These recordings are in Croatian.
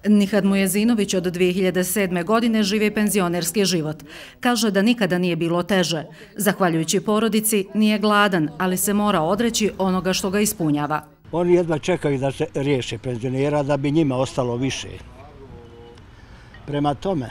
Nihad Mujezinović od 2007. godine živi penzionerski život. Kaže da nikada nije bilo teže. Zahvaljujući porodici nije gladan, ali se mora odreći onoga što ga ispunjava. Oni jedva čekaju da se riješe penzionera da bi njima ostalo više. Prema tome,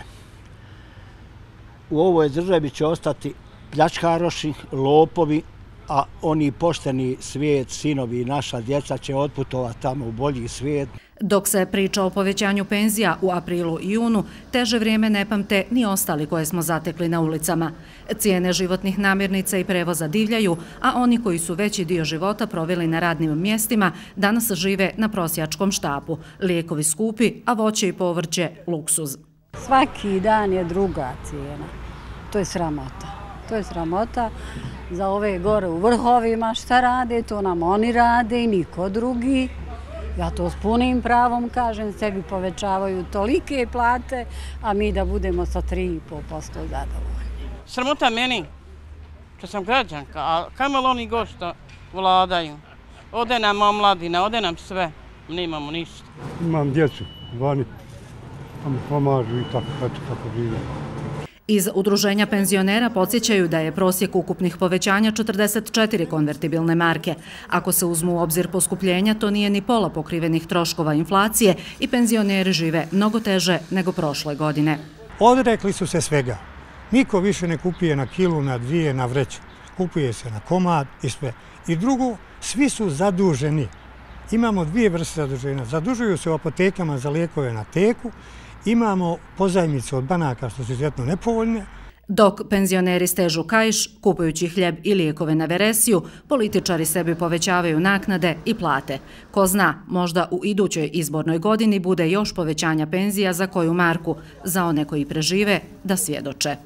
u ovoj državi će ostati pljačkaroši, lopovi, a oni pošteni svijet, sinovi i naša djeca će otputovati tamo u bolji svijet. Dok se priča o povećanju penzija u aprilu i junu, teže vrijeme ne pamte ni ostali koje smo zatekli na ulicama. Cijene životnih namirnica i prevoza divljaju, a oni koji su veći dio života proveli na radnim mjestima danas žive na prosjačkom štapu. Lijekovi skupi, a voće i povrće luksuz. Svaki dan je druga cijena. To je sramota. To je sramota za ove gore u vrhovima šta rade, to nam oni rade i niko drugi. Ja to s punim pravom kažem, sebi povećavaju tolike plate, a mi da budemo sa 3,5% zadovoljni. Sramota meni, što sam građanka, a kamo li oni gošta vladaju? Ode nam omladina, ode nam sve, nemamo ništa. Imam djecu, vani, pa mi pomažu i tako, eto kako živim. Iz udruženja penzionera podsjećaju da je prosjek ukupnih povećanja 44 konvertibilne marke. Ako se uzmu u obzir poskupljenja, to nije ni pola pokrivenih troškova inflacije i penzioneri žive mnogo teže nego prošle godine. Odrekli su se svega. Niko više ne kupuje na kilu, na dvije, na vreću. Kupuje se na komad i sve. I drugo, svi su zaduženi. Imamo dvije vrste zaduženja. Zadužuju se u apotekama za lijekove na teku. Imamo pozajmice od banaka što su izuzetno nepovoljne. Dok penzioneri stežu kaiš, kupujući hljeb i lijekove na veresiju, političari sebi povećavaju naknade i plate. Ko zna, možda u idućoj izbornoj godini bude još povećanja penzija za koju marku, za one koji prežive da svjedoče.